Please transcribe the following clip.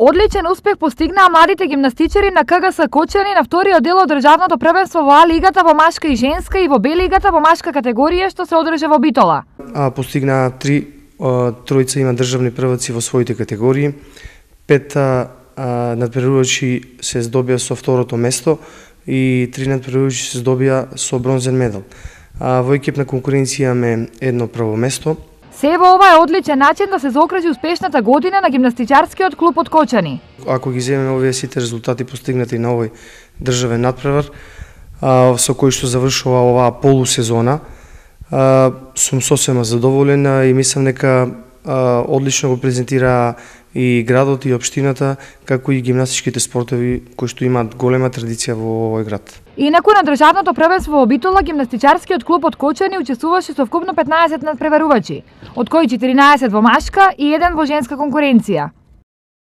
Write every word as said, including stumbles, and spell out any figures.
Одличен успех постигнаа младите гимнастичари на КГС Кочани на вториот дел од државното првенство во А лигата во машка и женска и во Б лигата во машка категорија што се одржа во Битола. А постигнаа три тројца има државни прваци во своите категории. Пет надпреварувачи се здобија со второто место и три надпреварувачи се здобија со бронзен медал. А во екипна конкуренција имаме едно прво место. Се во ова е одличен начин да се заокружи успешната година на гимнастичарскиот клуб од Кочани. Ако ги земеме овие сите резултати постигнати на овој државен надпревар, со кој што завршува оваа полусезона, сум сосема задоволен и мислам дека одлично го презентираа и градот и општината, како и гимнастичките спортови кои што имаат голема традиција во овој град. Инаку на државното првенство во Битола гимнастичарскиот клуб од Кочани учествуваше со вкупно петнаесет надпреварувачи, од кои четиринаесет во машка и еден во женска конкуренција.